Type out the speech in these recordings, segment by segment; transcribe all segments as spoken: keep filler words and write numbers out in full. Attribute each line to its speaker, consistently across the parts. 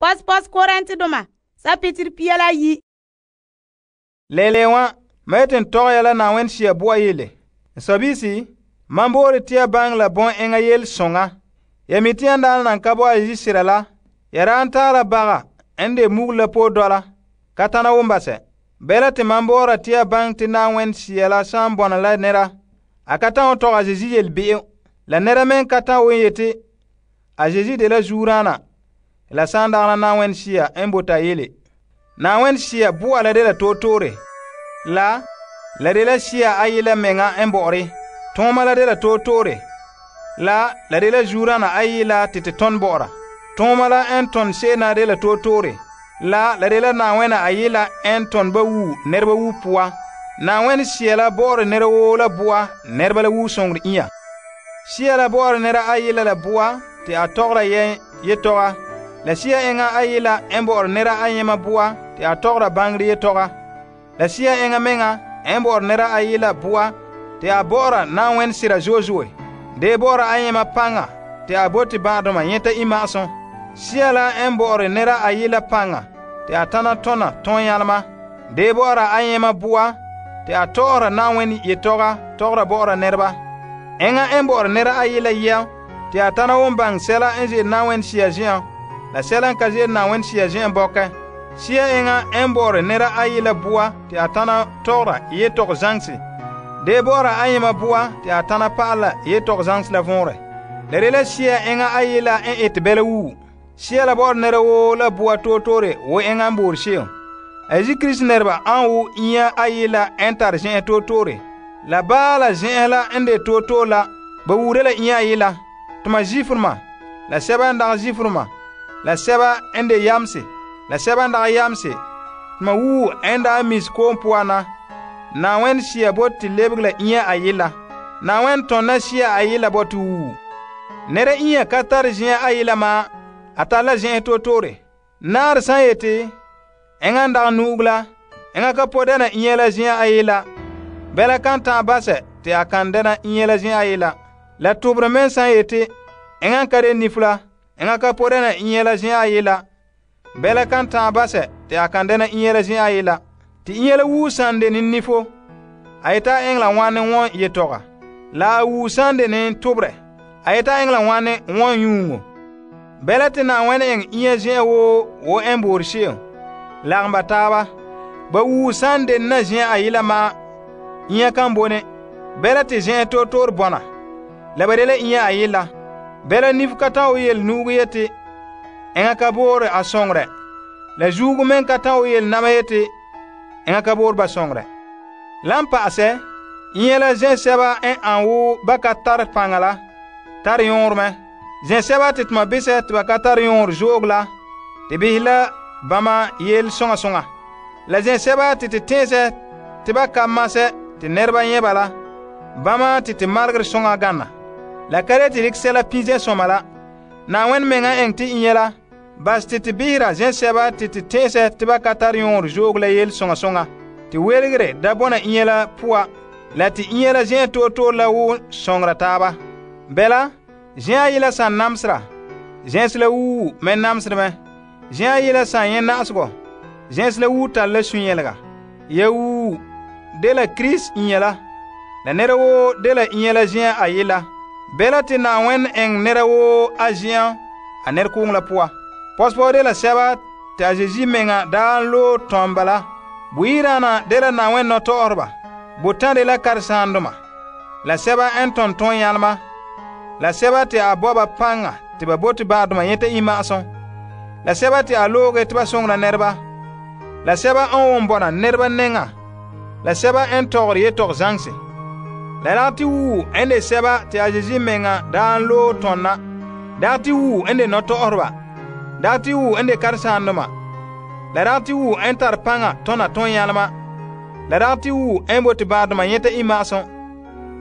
Speaker 1: Pɔspɔs Korintedoma sapitir pia la yi.
Speaker 2: Lele wa, ma yeti n tɔgɛ ya la Na'ayenɛ Sea boa yele. N sɔbiisi, mam boore te ya baŋɛ la bɔn enŋa yele soŋa. Ya mi te yan daana nan ka bo a yisera la, ya daan taara baga n de mugule la poe dɔla, ka tana wombasɛ. Bɛla te mam boora te ya baŋɛ te Na'ayenɛ Sea la saan bɔna la nɛra, a ka ta'an tɔgɛ a Zeezi yelebe'em. La nɛra me ka ta'an won yeti a Zeezi de la zuodaana, la saan dagana Na'ayenɛ Sea n bote a yele. Na'ayenɛ Sea boa la de la tootore. La, la de la Sea ayi la meŋa n bɔ'ɔre. Tooma la de la tootore. La, la de la zuodaana ayi la te te tɔn bɔ'ɔra. Tooma la n tɔn se'em na de la tootore. La, la de la Na'ayenɛ ayi la n tɔn ba wu nɛreba wu poa. Na'ayenɛ Sea la bɔ'ɔre nɛra woo la boa nɛreba la wu soŋore inya. Sea la bɔ'ɔre nɛra ayi la la boa te a tɔgɔra yɛ yetɔga. La Sea enŋa ayi la n bɔ'ɔre nɛra ayema boa te a tɔgɔra baŋere yetɔga. La Sea enŋa meŋa n bɔ'ɔre nɛra ayi la boa te a bɔ'ɔra Na'ayenɛ sera zo'e zo'e. De bɔ'ɔra ayema paŋa te a bote ba'adoma nyɛta imma'asum. Sea la n bɔ'ɔre nɛra ayi la paŋa te a tana tɔna tɔnyalema. De bɔ'ɔra ayema boa te a tɔgɔra Na'ayenɛ yetɔga tɔgɔra bɔ'ɔra nɛreba. Enŋa n bɔ'ɔre nɛra ayi la yɛm te a tana won baŋɛ sɛla n ze'ele Na'ayenɛ Sea zen'an la sɛla n ka ze'ele Na'ayenɛ Sea zen'an bɔkɛ. Sea enŋa n bɔ'ɔre nɛra ayi la boa te a tana tɔgɔra yetɔgɔ zaŋse. De bɔ'ɔra ayema boa te a tana pa'ala yetɔgɔ zaŋse la vɔnrɛ. La de la Sea enŋa ayi la n ete bɛla wuu. Sea la bɔ'ɔre nɛra woo la boa tootore wo enŋa n boore se'em. A Yesu Krista nɛreba an wo inya ayi la n tare zen'an tootore. La baa la zen'an la n de tootore la ba wuure la inya ayi la. Tuma Zifrema, la sɛba n dagɛ Zifrema, la sɛba n de yamse, la sɛba n dagɛ yamse. Tuma wuu n daa mis koom poan na. Na'ayenɛ Sea bote te lebege la inya ayi la. Na'ayenɛ tɔnna Sea ayi la bote wuu. Nɛra inya ka tare zen'an ayi la ma, a tare la zen'an tootore. Naare san yeti, enŋa n dagɛ nu'uge la, enŋa ka po dɛna inya la zen'an ayi la. Bɛla kan ta'an basɛ te a kan dɛna inya la zen'an ayi la. La tobere me san yeti, enŋa n ka de nifo la, enŋa ka po dɛna inya la zen'an ayi la. Bɛla kan ta'an basɛ te a kan dɛna inya la zen'an ayi la. Te inya la wuu san de ne nifo, a yeta a eŋɛ la ŋwane wɔn yetɔga. La a wuu san de ne toberɛ, a yeta a eŋɛ la ŋwane wɔn yuuŋo. Bɛla te Na'ayenɛ eŋɛ inya zen'an woo wo n boore se'em lagom ba taaba. Ba wuu san de na zen'an ayi la ma, inya kan bone. Bɛla te zen'an tootore bɔna, la ba de la inya ayi la. Bɛla nifo ka ta'an wo yele nu'uge yeti, enŋa ka boore a soŋorɛ. La zuugo meŋ ka ta'an wo yele nama yeti, enŋa ka boore ba soŋorɛ. Lan pa'asɛ, inya la zɛsɛba n an wo ba ka tare paŋa la, tare yõore mɛ. Zɛsɛba te tuma bisɛ te ba ka tare yõore zo'oge la, te behɛ la bama yele soŋa soŋa. La zɛsɛba te te tɛɛsɛ te ba ka masɛ te nɛreba nyɛ ba la, bama te te malegere soŋa gana. La ka de te dikɛ sɛla pin zɛsɔma la. Na'ayenɛ meŋa eŋɛ te inya la, bas te te behera zɛsɛba te te tɛɛsɛ te ba ka tare yõore zo'oge la yele soŋa soŋa. Te welegere da bɔna inya la poa, la te inya la zen'an tootore la wo sɔŋera taaba. Bɛla, zen'an ayi la san namsera, zɛnse la wuu me namsere mɛ. Zen'an ayi la san nyɛ na'asegɔ, zɛnse la wuu tare la sũ-yɛlega. Ya wuu de la Krista inya la, la nɛra woo de la inya la zen'an ayi la. Bɛla te Na'ayenɛ eŋɛ nɛra woo a zen'an a nɛrekooŋɔ la poa. Pɔsepɔ de la sɛba te a Zeezi meŋa daa loe tɔm bala. Buyidaana de la Na'ayenɛ nɔtɔgɔreba. Botan de la karesaandoma. La sɛba n tɔn tɔnyalema. La sɛba te a bɔ ba paŋa te ba bote ba'adoma nyɛta imma'asum. La sɛba te a looge te ba soŋora nɛreba. La sɛba n won bɔna nɛreba nɛŋa. La sɛba n tɔgɔre yetɔgɔ zaŋse. La dagɛ te wuu n de sɛba te a Zeezi meŋa daa n loe tɔnna. Dagɛ te wuu n de nɔtɔgɔreba. Dagɛ te wuu n de karesaandoma. La dagɛ te wuu n tare paŋa tɔna tɔnyalema. La dagɛ te wuu n bote ba'adoma nyɛta imma'asum.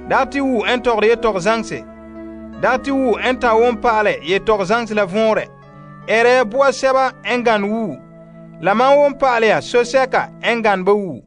Speaker 2: Dagɛ te wuu n tɔgɔre yetɔgɔ zaŋse. Dagɛ te wuu n ta won pa'alɛ yetɔgɔ zaŋse la vɔnrɛ. Ɛrɛ ya boa sɛba n gane wuu. La man won pa'alɛ ya so sɛka n gane ba wuu.